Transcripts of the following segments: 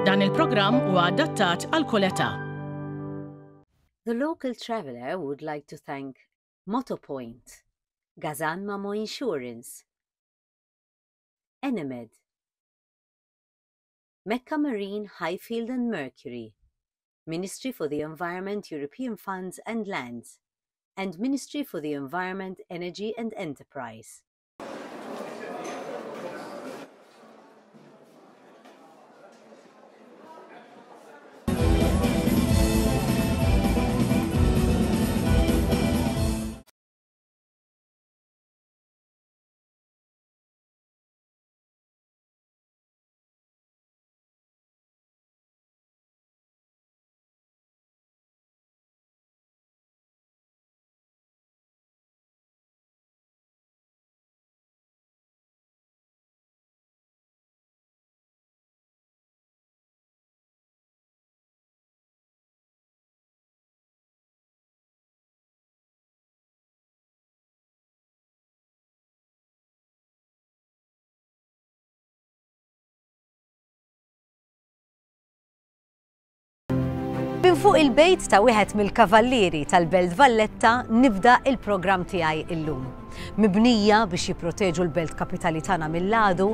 Dan il-programm huwa adattat għal kull età. The local traveller would like to thank Motopoint, Gazan Mamo Insurance, Enemed, Mecca Marine Highfield and Mercury, Ministry for the Environment European Funds and Lands, and Ministry for the Environment, Energy and Enterprise. Minn fuq il-bejt ta' wieħed mill-kavallieri tal-Belt Valletta nibda il-programm tiegħi illum. Mibnija biex jipproteġu l-belt kapitali tagħna mill-għadu,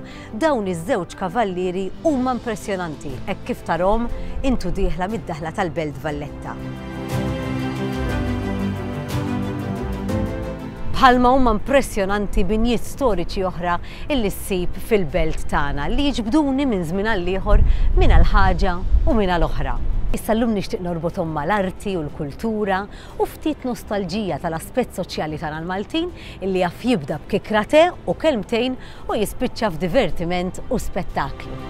dawn iż-żewġ kavallieri huma impressjonanti hekk kif tarhom intu dieħla mid-daħla tal-Belt Valletta. Bħalma huma impressjonanti binjiet storiċi oħra illi ssib fil-belt tagħna li jiġbduni minn żmien għal ieħor min għal ħaġa u min għal oħra. Issa llum nixtieq norbothom mal-arti u l-kultura u ftit nostalġija tal-aspett soċjali tagħna l-Maltin illi jaf jibda b'kikra te u kelmtejn u jispiċċa f'divertiment u spettaklu.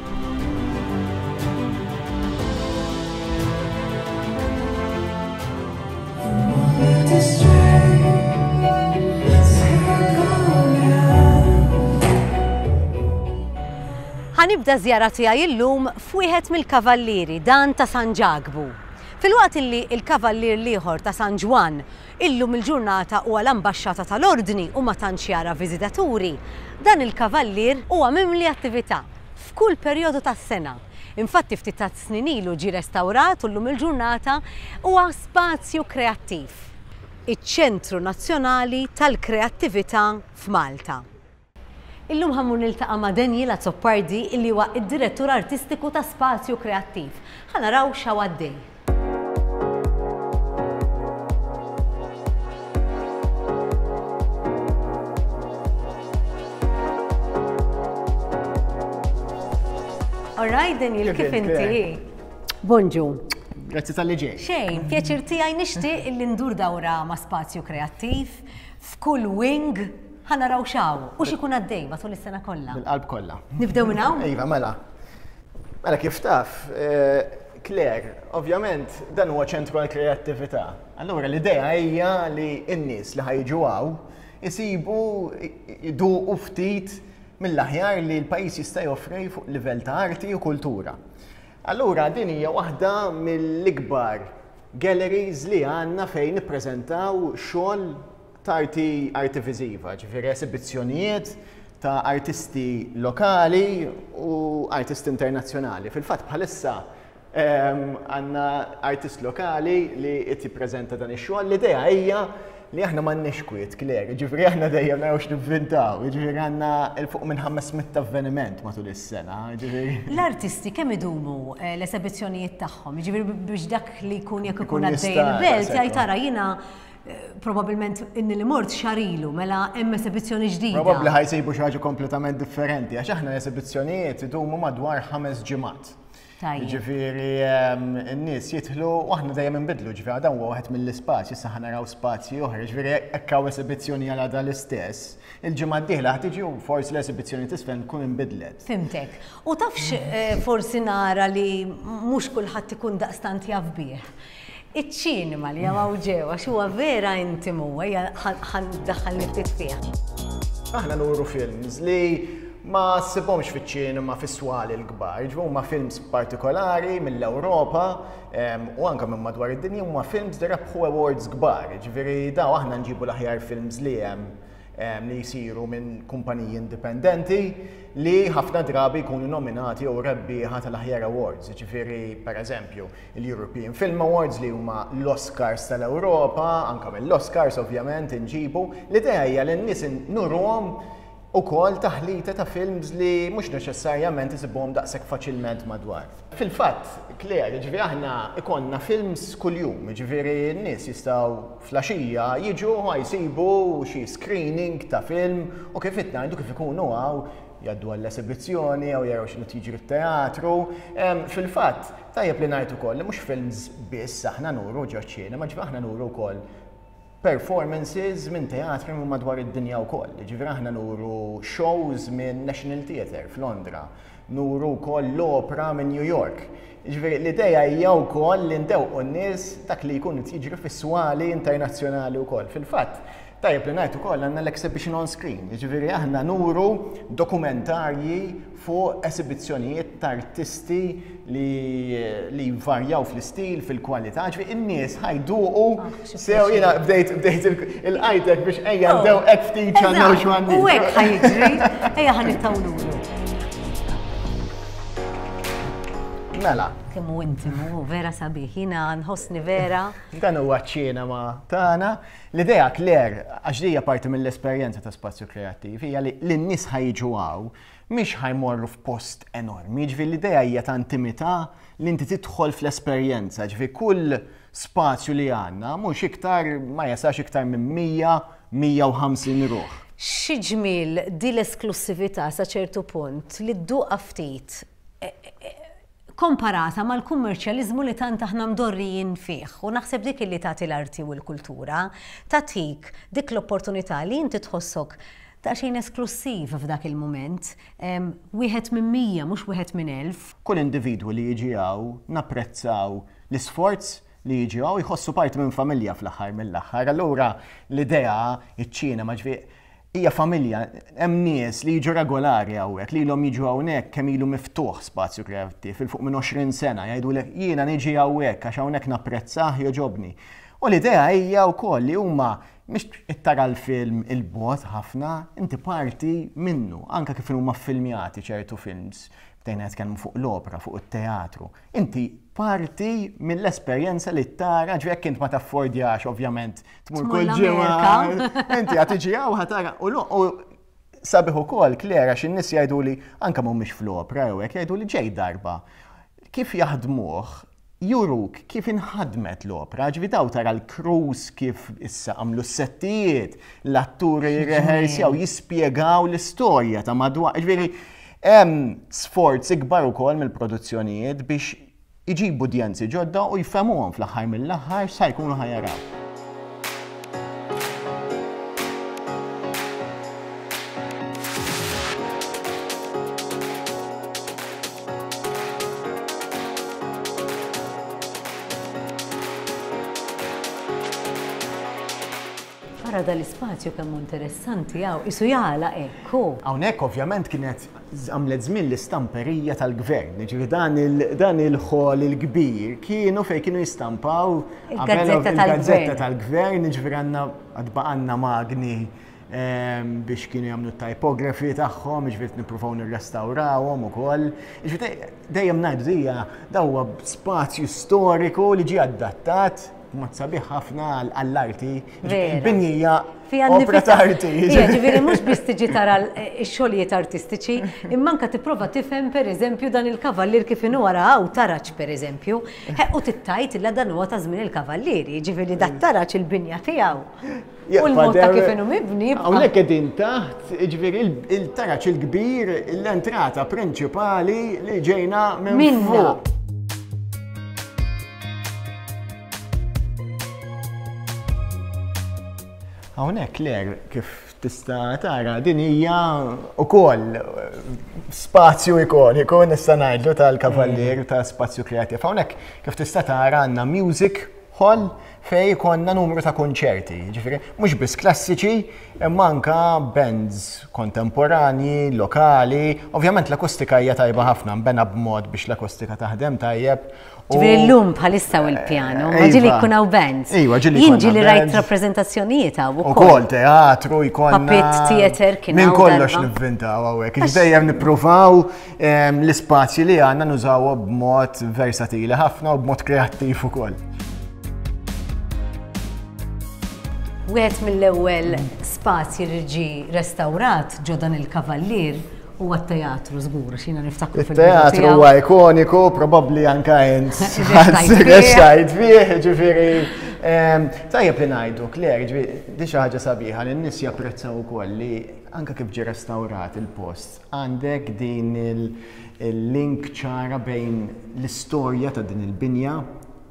Ħa nibda ż-żjara tiegħi illum f'wieħed mill-kavallieri, dan ta' San Ġakbu. Filwaqt illi l-kavallier l-ieħor ta' San Ġwann illum il-ġurnata huwa l-ambaxxata tal-Ordni u ma tantx jara viżitaturi, dan il-kavallier huwa mimli attività f'kull perjodu tas-sena. Infatti ftit tas-snin ilu ġie restawrat u llum il-ġurnata huwa spazju kreattiv, iċ-Ċentru Nazzjonali tal-Kreattività f'Malta. Illum ħa mmur niltaqa' ma' Daniel Azzopardi illi huwa d-Direttur Artistiku ta' Spazju Kreattiv. Ħa naraw x'hawn għaddej. All right, Daniel, kif inti? Bonġu. Grazzi tal-li ġej. Xejn, pjaċir tiegħi nixtieq illi ndur dawra ma' Spazju Kreattiv f'kull wing Ħa naraw x'hawn u x'ikun għaddej matul is-sena kollha. Bil-qalb kollha. Nibdew minn hawn? Iva, mela. Mela kif taf, eh, Claire, ovvjament dan huwa ċentru għal kreattività. Allura l-idea hija li n-nies li ħajġu hawn isibu jduqu ftit mill-aħjar li l-pajjiż jista' joffri fuq livell ta' arti u kultura. Allura din hija waħda mill-ikbar galleries li għandna fejn nippreżentaw xogħol ta' arti arti viżiva, ġifieri esibizzjonijiet ta' artisti lokali u artisti internazzjonali. Fil-fatt bħalissa ehm, għandna artist lokali li qed jippreżenta dan ix-xogħol. L-idea hija li aħna m'għandniex kwiet, Claire, ġifieri aħna dejjem naraw x'nivvintaw, ġifieri għandna il fuq minn 500 avveniment matul is-sena, ġifieri. L-artisti kemm idumu eh, l-esebizzjonijiet tagħhom, ġifieri biex dak li jkun jekk ikun għaddej il-belt jgħid tara jiena Probabilment inni li mort xahar ilu, mela hemm esebizzjoni ġdida. Probabbli ħa jsibu xi ħaġa kompletament differenti, għax aħna l-esebizzjonijiet idumu madwar ħames ġimgħat. Ġifieri ehm, n-nies jidħlu u aħna dejjem inbidlu, ġifieri dan huwa wieħed mill-ispazji, issa ħa naraw spazji oħra, ġifieri hekk hawn esibizzjoni għal għada l-istess, il-ġimgħa d-dieħla ħa tiġi u forsi l-esibizzjoni t'isfel tkun inbidlet. Fimtek. U tafx eh, forsi nara li mhux kulħadd ikun daqstant jaf bih. Iċ-ċinema li hawn ġew għax huwa vera intimu, ejja ħa ndaħħalni ftit fih. Aħna nuru films li ma ssibhomx fiċ-ċinema fis-swali l-kbar, ġifieri huma films partikolari mill-Ewropa u anke minn madwar id-dinja huma films li rebħu awards kbar, ġifieri daw aħna nġibu l-aħjar films li hemm. li jsiru minn kumpaniji indipendenti li ħafna drabi jkunu nominati jew rebbieħa tal-aħjar awards, jiġifieri pereżempju il-European Film Awards li huma l-Oscars tal-Ewropa, anke mill-Oscars ovvjament inġibu. L-idea hija li n-nies nuruhom ukoll taħlita ta' films li mhux neċessarjament isibuhom daqshekk faċilment madwar. Fil-fatt, Claire, jiġifieri aħna ikollna films kuljum, jiġifieri n-nies jistgħu fl-għaxija jiġu ħa jsibu xi screening ta' film u kif qed ngħidu kif ikunu hawn jgħaddu għall-esibizzjoni jew jaraw x'inhu jiġri t-teatru. Fil-fatt, tajjeb li ngħid ukoll li mhux films biss aħna nuru ġoċ-ċinema, ġifieri aħna nuru wkoll performances minn teatri minn madwar id-dinja wkoll. Jiġifieri aħna nuru shows minn National Theatre f'Londra, nuru wkoll l-opra minn New York. Jiġifieri l-idea hija wkoll li ndewqu n-nies dak li jkun qed jiġri fis-swali internazzjonali wkoll. Fil-fatt, tajjeb li ngħid ukoll għandna l-exhibition on screen, jiġifieri aħna nuru dokumentarji fuq esibizzjonijiet ta' artisti li li jvarjaw fl-istil, fil-kwalità, ġifieri in-nies ħa jduqu ah, sew jiena bdejt bdejt il-qajtek biex ejja oh. ndew hekk ftit x'għandna u x'għandna. U hekk ħa jiġri, ejja ħa nittawlulu. Mela. Kemm hu intimu, vera sabiħ, jiena nħossni vera. Dan huwa ċ-ċinema tagħna. L-idea Claire, għax hija parti mill-esperjenza ta' spazju kreattiv, hija li l-nies ħa jiġu hawn Mhix ħa jmorru f'post enormi, jiġifieri l-idea hija ta' intimità li inti tidħol fl-esperjenza, jiġifieri kull spazju li għandna mhux iktar ma jesax iktar minn 100, 150 ruħ. Xi ġmiel di l-esklussività sa ċertu punt li dduqha ftit komparata mal-kummerċjaliżmu li tant aħna mdorrijin fih u naħseb dik illi tagħti l-arti u l-kultura, tagħtik dik l-opportunità li inti tħossok daqsxejn esklussiv f'dak il-mument, wieħed minn 100 mhux wieħed minn 1000. Kull individwu li jiġi hawn napprezzaw l-isforz li jiġi hawn jħossu parti minn familja fl-aħħar mill-aħħar. Allura l-idea, iċ-ċinema, ġifieri Hija familja, hemm nies li jiġu regolari hawnhekk, li ilhom jiġu hawnhekk kemm ilu miftuħ Spazju Kreattiv, 'il fuq minn 20 sena, jgħidulek jiena niġi hawnhekk għax hawnhekk napprezzah, jogħġobni. U l-idea hija wkoll li huma mhix qed tara l-film 'il bogħod ħafna, inti parti minnu, anke kif inhuma ffilmjati ċertu films, bdejna nitkellmu fuq l-opra, fuq it-teatru. Inti parti mill-esperjenza li tara, ġifieri jekk int ma taffordjax ovvjament tmur kull ġimgħa. Inti qed tiġi hawn ħa tara u sabiħ ukoll Claire għax in-nies jgħiduli anke mhumiex fl-opra jew hekk jgħiduli ġej darba. Kif jaħdmuh juruk kif inħadmet l-opra, ġifieri daw tara l-crews kif issa għamlu s-settijiet, l-atturi jirrehersjaw, jispjegaw l-istorja ta' madwar. Ġifieri Hemm sforz ikbar ukoll mill-produzzjonijiet biex iġibu udjenzi ġodda u jfehmuhom fl-aħħar mill-aħħar x'sa jkunu ħa jaraw. Ara dal-ispazju kemm hu interessanti hawn, qisu jagħlaq hekk hu. Hawnhekk ovvjament kienet għamlet żmien l-istamperija tal-gvern, jiġifieri dan dan il-hall il-kbir kienu fejn kienu jistampaw il-gazzetta tal-gvern, jiġifieri għandna għad baqgħalna magni biex kienu jagħmlu t-typography tagħhom, jiġifieri nippruvaw nirrestawrawhom ukoll. Jiġifieri dejjem ngħidu hija da huwa spazju storiku li ġie adattat Mod sabiħ ħafna għall-arti. Il-binjija opra ta' arti. Ġifieri mhux biss tiġi tara x-xogħlijiet artistiċi, imma anke tipprova tifhem pereżempju dan il-kavallier kif inhu wara hawn taraġ pereżempju. U tittajt illa dan huwa ta' żmien il-kavallieri, jiġifieri dat-taraġ il-binja tiegħu. U l-mod ta' kif inhu mibni. Hawnhekk qegħdin taħt, jiġifieri il-taraġ il-kbir, l-entrata prinċipali li ġejna minn fuq. Hawnhekk Claire, kif tista' tara, din hija wkoll spazju ikoniku nista' ngħidlu tal-Kavallier ta' Spazju Kreattiv. Hawnhekk kif tista' tara għandna music. hall fejn ikollna numru ta' kunċerti, jiġifieri mhux biss klassiċi imma anke bands kontemporanji, lokali. Ovvjament l-akustika hija tajba ħafna, nbena b'mod biex l-akustika taħdem tajjeb. Ġifieri llum bħalissa u l-pjano, ma ġieli jkun hawn bands. Iva, ġieli Jien ġieli rajt rappreżentazzjonijiet hawn ukoll. Ukoll teatru jkollna. Puppet theater kien Minn kollox nivvintaw hawnhekk. Dejjem nippruvaw L-ispazji li għandna nużawhom b'mod versatili ħafna u b'mod kreattiv ukoll. Wieħed mill-ewwel spazji li ġie restawrat ġo dan il-Kavallier huwa t-teatru żgur, għax jiena niftakru fil Teatru huwa ikoniku, probabbli anka int rextajt fih, ġifieri. Tajjeb li ngħidu, Claire, ġifieri di xi ħaġa sabiħa li n-nies japprezzaw ukoll li anka kif ġie restawrat il-post, Għandek din il-link ċara bejn l-istorja ta' din il-binja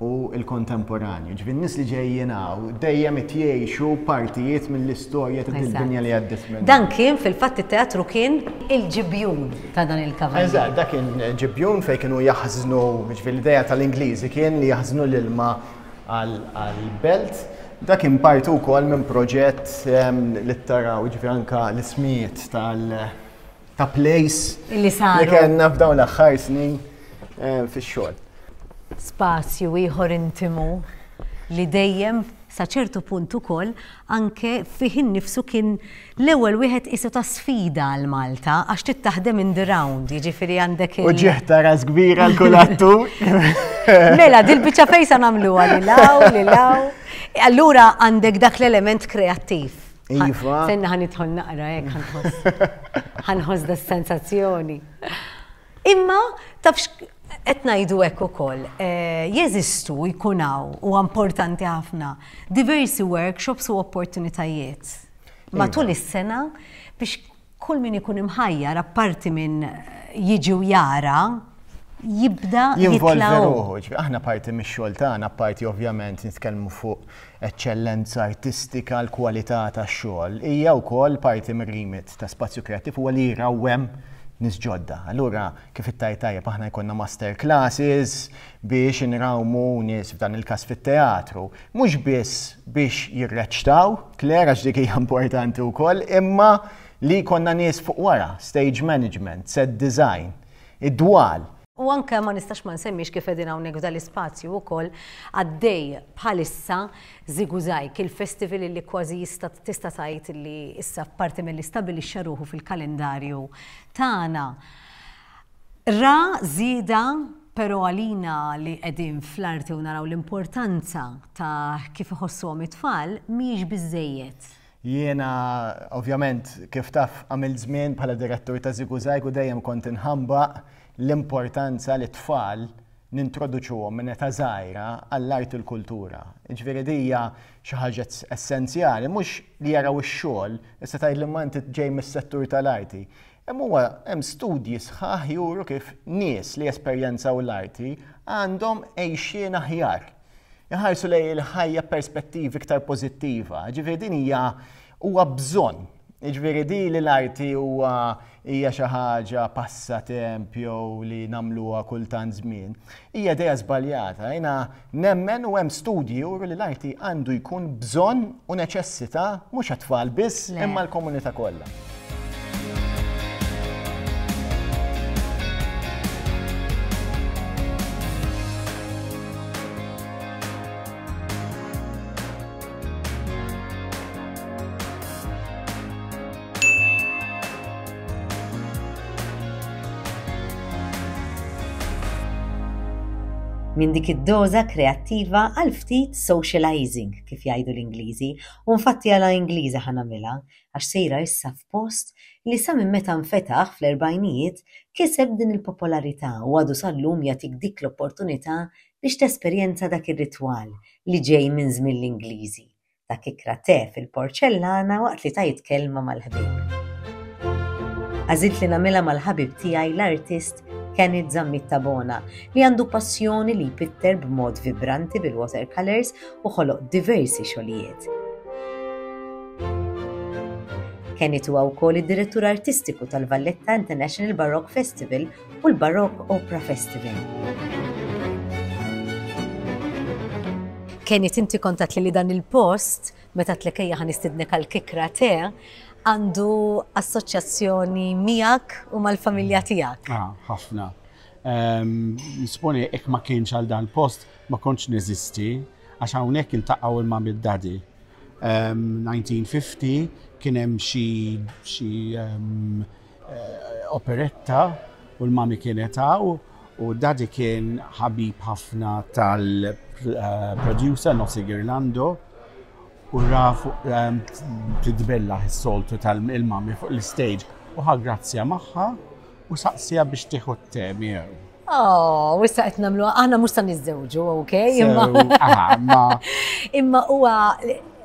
u l-kontemporanju. Ġifieri n-nies li ġejjin hawn dejjem qed jgħixu partijiet mill-istorja ta' din il-binja li għaddiet minnha. Dan kien fil-fatt it-teatru kien il-ġibjun ta' dan il-kavallier. Eżatt, dak kien ġibjun fejn kienu jaħżnu, ġifieri l-idea tal-Ingliżi kien li jaħżnu l-ilma għall-belt. Dak kien parti wkoll minn proġett li taraw ġifieri anka l-ismijiet tal ta' place li saru. Li kellna f'dawn l-aħħar snin fix-xogħol. Spazju ieħor intimu li dejjem sa ċertu punt ukoll anke fih innifsu kien l-ewwel wieħed qisu ta' sfida għal Malta għax trid taħdem in the round, jiġifieri għandek il. Uġigħ ta' ras kbir għal kull attur. Mela, dil-biċċa fejn sa nagħmluha lil hawn, lil hawn. Allura għandek dak l-element kreattiv. Iva. Senna ħa nidħol naqra hekk ħa nħoss. Ħa nħoss da sensazzjoni. Imma taf qed ngħidu hekk ukoll, eh, jeżistu jkun hawn u importanti ħafna diversi workshops u opportunitajiet matul iva. is-sena biex kull min ikun imħajjar apparti minn jiġi u jara jibda jinvolvi ruħu. Aħna parti mix-xogħol tagħna, parti ovvjament nitkellmu fuq eċċellenza artistika, l-kwalità tax-xogħol, hija wkoll parti mir-remit ta' Spazju Kreattiv huwa li jrawwem nies ġodda. Allura, kif ittajt tajjeb, aħna jkollna master classes biex inrawmu nies f'dan il-każ fit-teatru. Mhux biss biex jirreċtaw, Claire, għax dik hija importanti wkoll, imma li jkollna nies fuq wara, stage management, set design, id-dwal. U anke ma nistax ma nsemmix kif qegħdin hawnhekk f'dal-ispazju wkoll għaddej bħalissa Żigużajg, il-festival illi kważi jista' tista' tgħid illi issa parti milli stabilixxa ruħu fil-kalendarju tagħna. Ra żieda però għalina li qegħdin fl-arti u naraw l-importanza ta' kif iħossuhom it-tfal mhijiex biżżejjed. Jiena, ovvjament, kif taf, għamilt żmien bħala direttur ta' Żigużajg u dejjem kont inħambaq l-importanza li t-tfal nintroduċuhom minn età żgħira għall-arti u l-kultura. Jiġifieri di hija xi ħaġa essenzjali, mhux li jaraw ix-xogħol, issa tgħidli imma inti ġej mis-settur tal-arti. Hemm huwa hemm studji sħaħ juru kif nies li jesperjenzaw l-arti għandhom għejxien aħjar. Iħarsu lejn il-ħajja b'perspettiva iktar pożittiva. Ġifieri din hija huwa bżonn. Jiġifieri di li l-arti huwa hija xi ħaġa passatemp jew li nagħmluha kultant żmien, hija idea żbaljata. Jiena nemmen u hemm studji juru li l-arti għandu jkun bżonn u neċessità mhux għat-tfal biss imma l-komunità kollha. Minn dik id-doża kreattiva għal ftit socializing, kif jgħidu l-Ingliżi, u nfatti għala Ingliża ħa nagħmilha, għax sejra issa f'post li sa minn meta nfetaħ fl-erbgħinijiet kiseb din il-popolarità u għadu sal-lum jagħtik dik l-opportunità biex tesperjenza dak ir-ritwal li ġej minn żmien l-Ingliżi, ta' kikra te fil-porċellana waqt li tgħid kelma mal-ħbieb. Għażilt li nagħmilha mal-ħabib tiegħi l-artist Kenneth Zammit Tabona li għandu passjoni li jpitter b'mod vibranti bil-watercolours u ħoloq diversi xogħlijiet. Kenneth huwa wkoll id-direttur artistiku tal-Valletta International Baroque Festival u l-Baroque Opera Festival. Kenneth inti kont għedtli li dan il-post, meta għedtlek ejja ħa nistidnek għal kikra te, għandu assoċjazzjoni miegħek u mal-familja tiegħek. Ah, ħafna. Nisponi jekk ma kienx għal dan il-post ma kontx neżisti għax hawnhekk iltaqgħu il-mami d-daddy. 1950 kien hemm xi xi operetta u l-mami kienet hawn u daddy kien ħabib ħafna tal-producer Nossi Girlando u ra fuq titbellaħ is-soltu tal-mami fuq l-stage u ħa grazzja magħha u saqsija biex tieħu t-te miegħu. Oh, issa qed nagħmlu aħna mhux se niżżewġu, ok? Imma imma huwa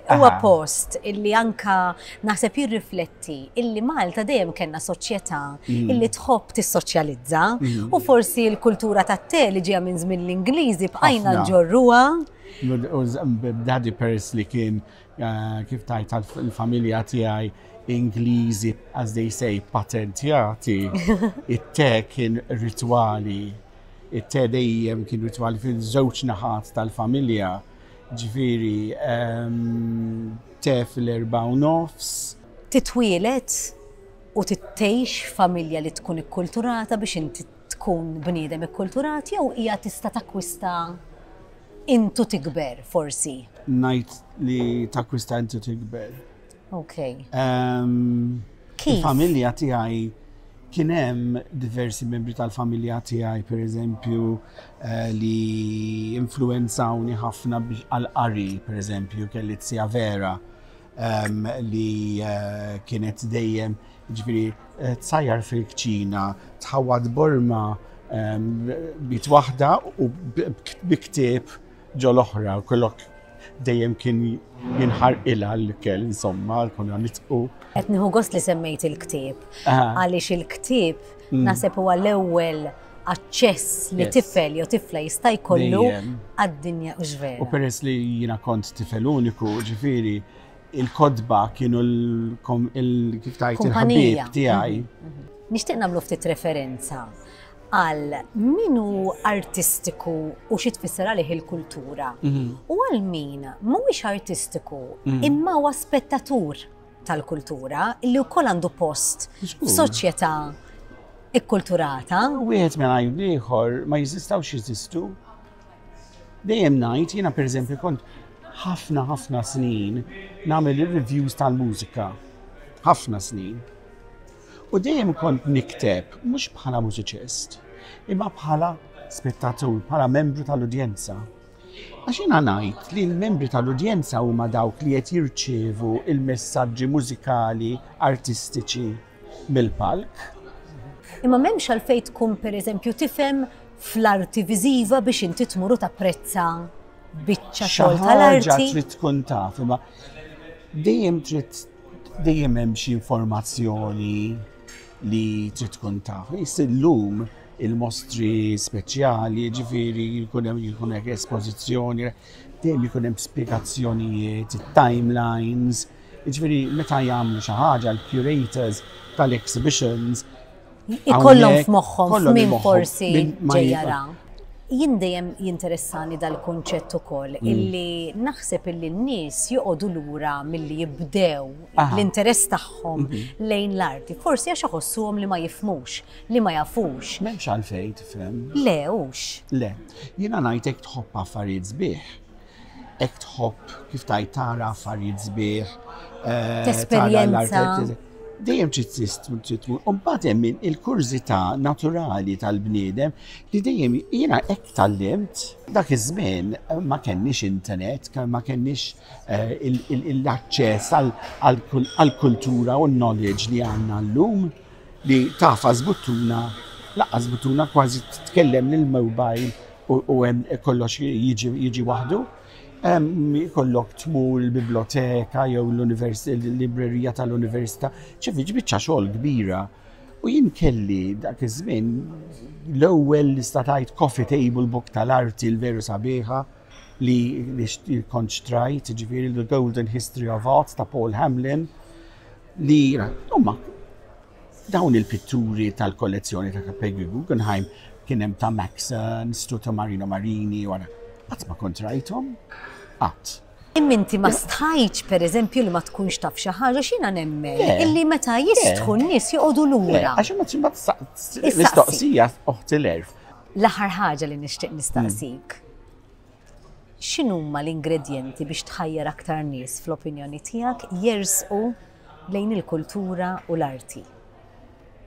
huwa post illi anka naħseb jirrifletti illi Malta dejjem kellna soċjetà illi tħobb tissoċjalizza u forsi l-kultura tat-te li ġejja minn żmien l-Ingliżi bqajna nġorruha. Daddy peress li kien kif tajt il-familja tiegħi Ingliżi, as they say, patentjati, it-te kien ritwali. It-te dejjem kien ritwali fil-żewġ naħat tal-familja. Ġifieri, te fil-4:30. Titwieled u tgħix f'familja li tkun ikkulturata biex inti tkun bniedem ikkulturat jew hija tista' takkwista intu tikber forsi? Ngħid li takkwista intu tikber. Ok. Kif? Il-familja tiegħi kien hemm diversi membri tal-familja tiegħi pereżempju eh, li influenzawni ħafna għal-qari, pereżempju, kelli zija Vera ehm, li eh, kienet dejjem ġifieri eh, tsajjar fil-kċina, tħawad borma ehm, bit waħda u bi ktieb ġo l-oħra, kollok dejjem kien jinħarqilha l-ikel, insomma, konna nitqu. Qed nieħu gost li semmejt il-ktieb. Għaliex il-ktieb mm. naħseb huwa l-ewwel aċċess li tifel jew tifla jista' jkollu għad-dinja u x'vera. U peress li jiena kont tifel uniku, ġifieri, il-kodba kienu l-kif tajt il-ħabib tiegħi. Mhm, mhm. Nixtieq nagħmlu ftit referenza għal min hu artistiku u xi tfisser għalih il-kultura. Mhm. U għal min mhuwiex artistiku mhm. imma huwa spettatur tal-kultura li wkoll għandu post f'soċjetà ikkulturata. Wieħed mingħajr ieħor ma jeżistawx jeżistu. Dejjem ngħid, jiena pereżempju kont ħafna ħafna snin nagħmel ir-reviews tal-mużika. Ħafna snin. U dejjem kont nikteb mhux bħala mużiċist, imma bħala spettatur, bħala membru tal-udjenza. Għax jiena ngħid li l-membri tal-udjenza huma dawk li qed jirċievu il-messaġġi mużikali artistiċi mill-palk. Imma m'hemmx għalfejn tkun pereżempju tifhem fl-arti viżiva biex inti tmur u tapprezza biċċa xogħol tal-arti. Trid tkun taf, imma dejjem trid dejjem hemm xi informazzjoni li trid tkun taf. Illum il-mostri speċjali, ġifieri jkun hemm jkun hekk espożizzjoni, dejjem jkun hemm spjegazzjonijiet, timelines, ġifieri meta jagħmlu xi ħaġa l-curators tal-exhibitions Ikollhom f'moħħhom min forsi ġejjara. Jien dejjem jinteressani dal-kunċett ukoll mm. illi naħseb illi n-nies joqogħdu lura milli jibdew l-interess tagħhom mhm. lejn l-arti. Forsi għax iħossuhom li ma jifhmux, li ma jafux. M'hemmx għalfejn tifhem. Le, hux. Le, jiena ngħid hekk tħobb affarijiet sbieħ. Hekk tħobb kif tajt tara affarijiet sbieħ. Eh, Tesperjenza. Dejjem trid trid tmur. U mbagħad hemm il-kurżità naturali tal-bniedem li dejjem jiena hekk tgħallimt. Dak iż-żmien ma kenniex internet, ma kenniex eh, l-aċċess għall-kultura u l-knowledge li għandna llum li tafas buttuna, laqqas buttuna kważi titkellem lill-mobile u hemm kollox jiġi waħdu. Ikollok tmur il-biblioteka jew l-librerija tal-università, ċefi biċċa xogħol kbira. U jien kelli dak iż-żmien l-ewwel li statajt coffee table book tal-arti l-veru sabiħa li kont xtrajt, ġifieri The Golden History of Art ta' Paul Hamlin li huma Dawn il-pitturi tal-kollezzjoni ta' Peggy Guggenheim kien hemm ta' Max Ernst u ta' Marino Marini u qatt ma kont rajthom. Qatt. Imma inti ma stħajtx pereżempju li ma tkunx taf xi ħaġa x'jiena nemmen illi meta jistħu n-nies joqogħdu lura. Għax ma mistoqsija oħti l-erf. L-aħħar ħaġa li nixtieq nistaqsik. X'inhuma l-ingredjenti biex tħajjar aktar nies fl-opinjoni tiegħek jersqu lejn il-kultura u l-arti?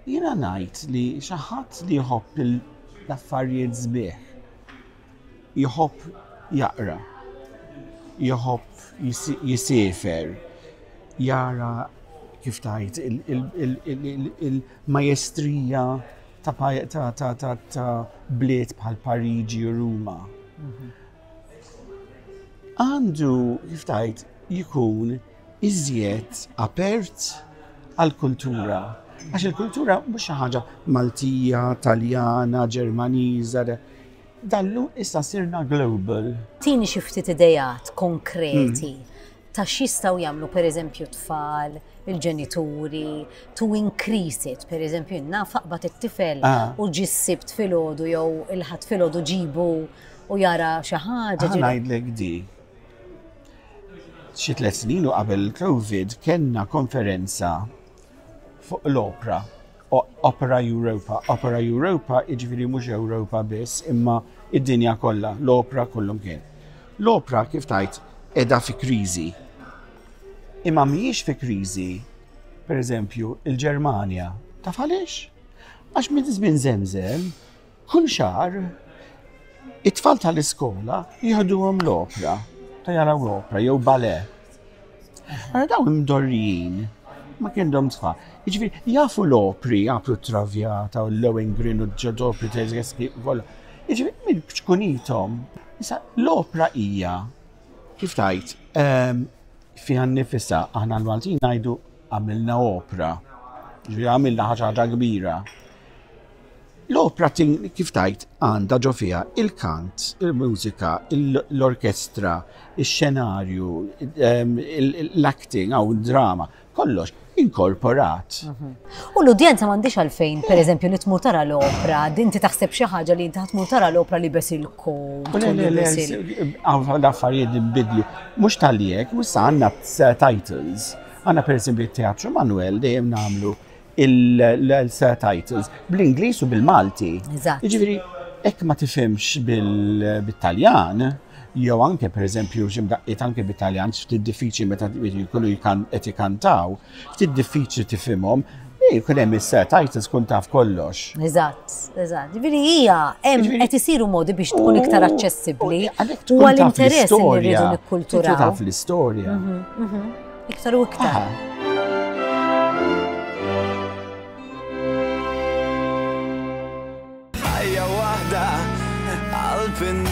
Jiena ngħid li xi ħadd li jħobb l-affarijiet sbieħ jħobb jaqra, jħobb jisiefer, jara kif tgħid il-majestrija ta' bliet bħal Pariġi u Ruma. Għandu kif tgħid jkun iżjed apert għall-kultura. Għax il-kultura mhux xi ħaġa Maltija, Taljana, Ġermaniża, dallu issa sirna global. Tini xi ftit ideat konkreti ta' x'jistgħu jagħmlu pereżempju t-tfal, il-ġenituri, to increase it, pereżempju jien naf aqbad it-tifel u ġie s-Sibt filgħodu jew il-Ħadd filgħodu ġibu u jara xi ħaġa. Ħa ngħidlek di. Xi tlet snin u qabel il-Covid kellna konferenza fuq l-opra, Opera Europa. Opera Europa jiġifieri mhux Ewropa biss imma id-dinja kollha, l-opra kullum kien. L-opra kif tajt qiegħda fi kriżi. Imma mhijiex fi kriżi, pereżempju, il-Ġermanja. Taf għaliex? Għax minn żmien żemżem Kull xahar, it-tfal tal-iskola jieħduhom l-opra, ta' jaraw l-opra jew ballet. Ara dawn imdorrijin ma kienhom tfal. Jiġifieri jafu l-opri, jafu t-Traviata u l-Lohengrin u ġodopri Tchaikovsky u kollha. Jiġifieri minn ċkunithom. Issa l-opra hija kif tgħid ehm, fiha nnifisha aħna l-Maltin ngħidu għamilna opra. Jiġifieri għamilna ħaġa kbira. L-opra kif tgħid għandha ġo fiha il-kant, il-mużika, l-orkestra, ix-xenarju, ehm, l-acting hawn drama, kollox inkorporat. Mhm. U l-udjenza m'għandix għalfejn, per eżempju, li tmur tara l-opra, inti taħseb xi ħaġa li inti tmur tara l-opra li bes il-kowt. Le, le, le, l-affarijiet nbidlu. Mhux tal-jek, u issa għandna titles. Għandna per eżempju t-Teatru Manuel dejjem nagħmlu il-titles bl-Ingliż u bil-Malti. Jiġifieri hekk ma tifhimx bil-Taljan, jew anke pereżempju xi mdaqqiet anke bit-Taljan ftit diffiċli meta jkunu qed ikantaw, ftit diffiċli tifhimhom, jkun hemm is-titles tkun taf kollox. Eżatt, eżatt. Ġifieri hija hemm qed isiru modi biex tkun iktar aċċessibbli u għall-interess li rridu nikkulturaw. Taf l-istorja. Mhm, mhm. Iktar u iktar. Ħajja waħda qalb in.